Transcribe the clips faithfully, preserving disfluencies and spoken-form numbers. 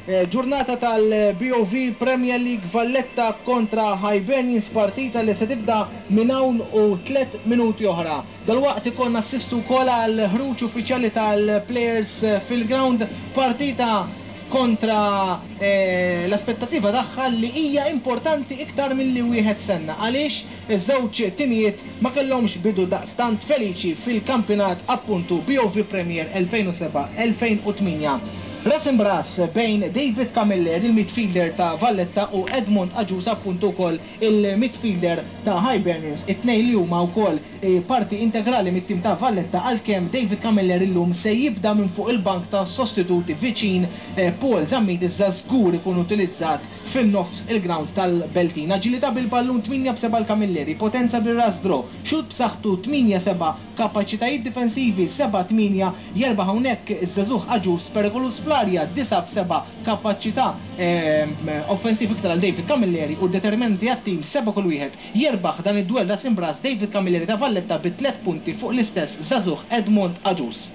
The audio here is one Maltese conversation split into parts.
Ġurnata tal-B O V Premier League, Valletta kontra Hibernians, partita li se tibda minn hawn u tliet minuti oħra. Dalwaqt ikollna assistu wkoll għal ħruġ uffiċjali tal-players fil-ground, partita kontra eh, l-aspettativa tagħha li hija importanti iktar milli wieħed stenna, għaliex iż-żewġ timijiet ma kellhomx bidu daqstant feliċi fil-kampjonat appuntu B O V Premier elfejn u sebgħa elfejn u tmienja. Ras imb'ras bejn David Camilleri, il-midfielder ta' Valletta, u Edmond Agius, appuntu wkoll il-midfielder ta' Hibernians, it-tnejn li huma wkoll eh, parti integrali mit-tim ta' Valletta, għalkemm David Camilleri llum se jibda minn fuq il-bank ta' sostituti viċin eh, Paul Zammit, iżda żgur ikun utilizzat fin-nofs il-ground tal-Beltin. Aġilità bil-ballun tmienja b'sebgħa l-Camilleri, potenza bil-ras draw, xut b'saħħtu tmienja sebgħa, kapaċitajiet difensivi seba' tmienja, jerbaħ hawnhekk iż-żagħżugħ Agius, perikoluż fl-arja disgħa b'sebgħa, kapaċità ehm, offensiv iktar għal David Camilleri u determinanti għat-tim seba' kull wieħed. Jerbaħ dan id-duell ras imb'ras David Camilleri ta' Valletta bi tliet punti fuq l-istess żagħżugħ Edmond Agius.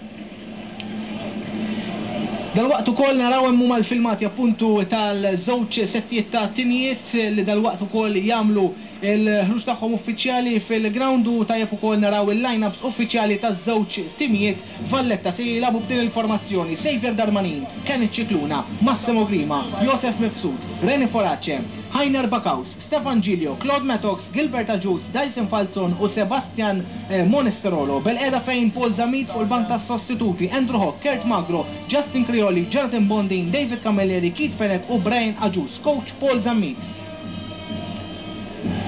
Dalwaqt ukoll naraw hemm huma l-filmati appuntu tal-żewġ settijiet ta' timijiet li dalwaqt ukoll jagħmlu il-ħruġ tagħhom uffiċjali fil-ground u tajjeb ukoll naraw il-line-ups uffiċjali taż-żewġ timijiet. Valletta se jilagħbu b'din il-formazzjoni: Xavier Darmanin, Kenneth Cicluna, Massimo Grima, Josef Mifsud, Reni Forace, Heiner Bakaus, Stefan Giglio, Claude Mattox, Gilbert Agius, Dyson Falzon u Sebastian eh, Monesterolo. Bil-qeda fejn Paul Zammit fuq il-bank tas sostituti, Andrew Hock, Kurt Magro, Justin Crioli, Jonathan Bondin, David Camilleri, Keith Fenech u Brian Agius, coach Paul Zammit.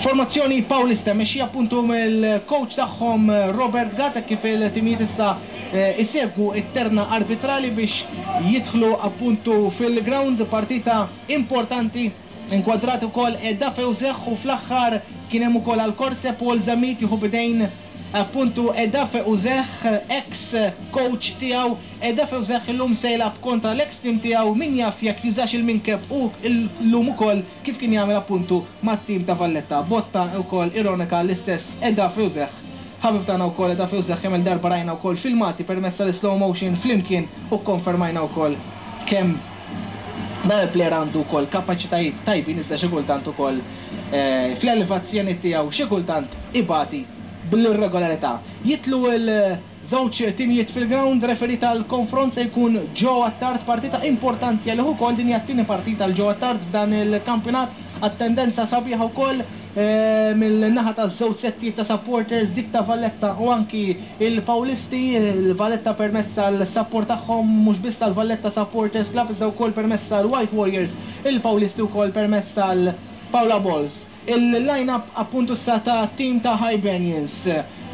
Formazzjoni Paulista mexxija appuntu mill-coach tagħhom Robert Gatt, kif il-timijiet issa eh, isegwu it-terna arbitrali biex jidħlu appuntu fil-ground, partita importanti. Inkwadrat ukoll Edda Fewzeħ u fl-aħħar kien hemm ukoll għal Korse Paul Zammit jieħu bidejn appuntu Edafe Uzeħ, ex coach tiegħu. Edafe Uzeħ illum se jilgħab kontra l-ex team tiegħu, min jaf jekk jużax il-minkeb u llum ukoll kif kien jagħmel appuntu mat-tim ta' Valletta. Botta wkoll ironika l-istess Edafe Uzeħ. Ħabib tagħna wkoll Edafe Uzeħ, kemm il-darba rajna wkoll filmati permezz tal-slow motion flimkien u konfermajna wkoll kemm dan il-player għandu wkoll kapaċitajiet tajbin, iżda xi kultant ukoll eh, fl-elevazzjoni tiegħu xi kultant ibati bl-irregolarità. Jidħlu il-żewġ timijiet fil-ground, referee tal-konfront se jkun Joe Attard, partita importanti għalih ukoll, din hija t-tieni partita għal Joe Attard f'dan il-kampjonat, attendenza sabiħa wkoll eh, mill-naħa ta' żewġ settijiet ta' supporters, dik ta' Valletta u anki il-Paulisti, il-Valletta permezz tal-support tagħhom mhux biss tal-Valletta Supporters Club iżda wkoll permezz tal-White Warriors, il-Paulisti wkoll permezz tal-Paula Balls. Il-line-up appuntu sta ta' team ta' Hibernians.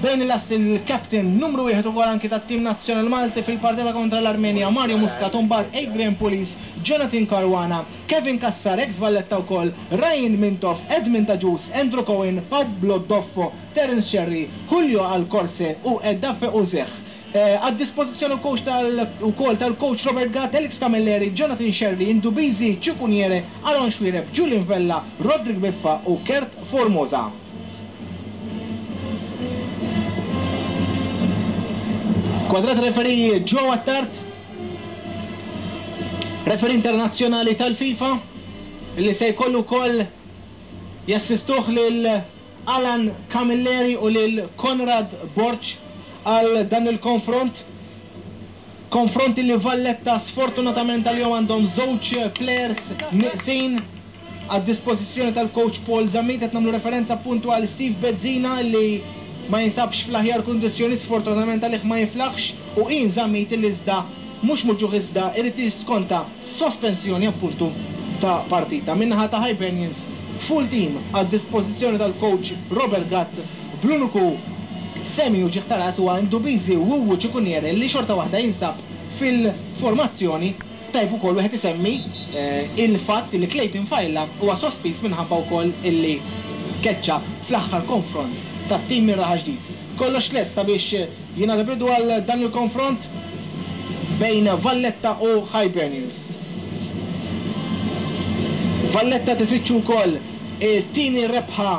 Bejn il-last il-captain numru wieħed ukoll anki ta' team nazzjonal Malti fil-partita kontra l-Armenja, Mario Muscat, mbagħad Adrian Pulis, Jonathan Caruana, Kevin Cassar, ex Valletta wkoll, Ryan Mintoff, Edmund Agius, Andrew Cohen, Pablo Doffo, Terence Sherry, Julio Alcorse u Edafe Uzech. Għad dispożizzjoni coach tal ukoll tal-coach Robert Gatt, Alex Camilleri, Jonathan Sherry, Indubizi Ciukuniere, Aaron Xuereb, Julian Vella, Rodrik Biffa u Kurt Formosa. Kwadrat referee Joe Attard, referee internazzjonali tal-FIFA, li se jkollu wkoll jassistuh lil Alan Camilleri u lil Konrad Borch għal dan il-konfront. Konfronti li Valletta sfortunatament għal-jom għandhom żewġ players neqsin għad dispożizzjoni tal-coach Paul Zammit, qed nagħmlu referenza appuntu għal Steve Bezzina li ma jinsabx fl-aħjar kundizzjoni, sfortunatament għalih ma jiflaħx, u Ian Zammit li iżda mhux muġugħ iżda irid jiskonta sospensjoni appuntu ta' partita. Min-naħa ta' Hibernians full team għad dispożizzjoni tal-coach Robert Gatt, bl-uniku semi uġigħ ta' ras huwa Ndubizi Wuwu Ċikuniere li xorta waħda jinsab fil-formazzjoni. Tajjeb ukoll wieħed isemmi eh, il-fatt li Clayton Failla huwa sospiż minħabba wkoll illi keċċa fl-aħħar konfront tat-tim minn Raħal Ġdid. Kollox lest sabiex jingħata bidu għal dan il-konfront bejn Valletta u Hibernians. Valletta tifittxu wkoll it-tieni rebħa.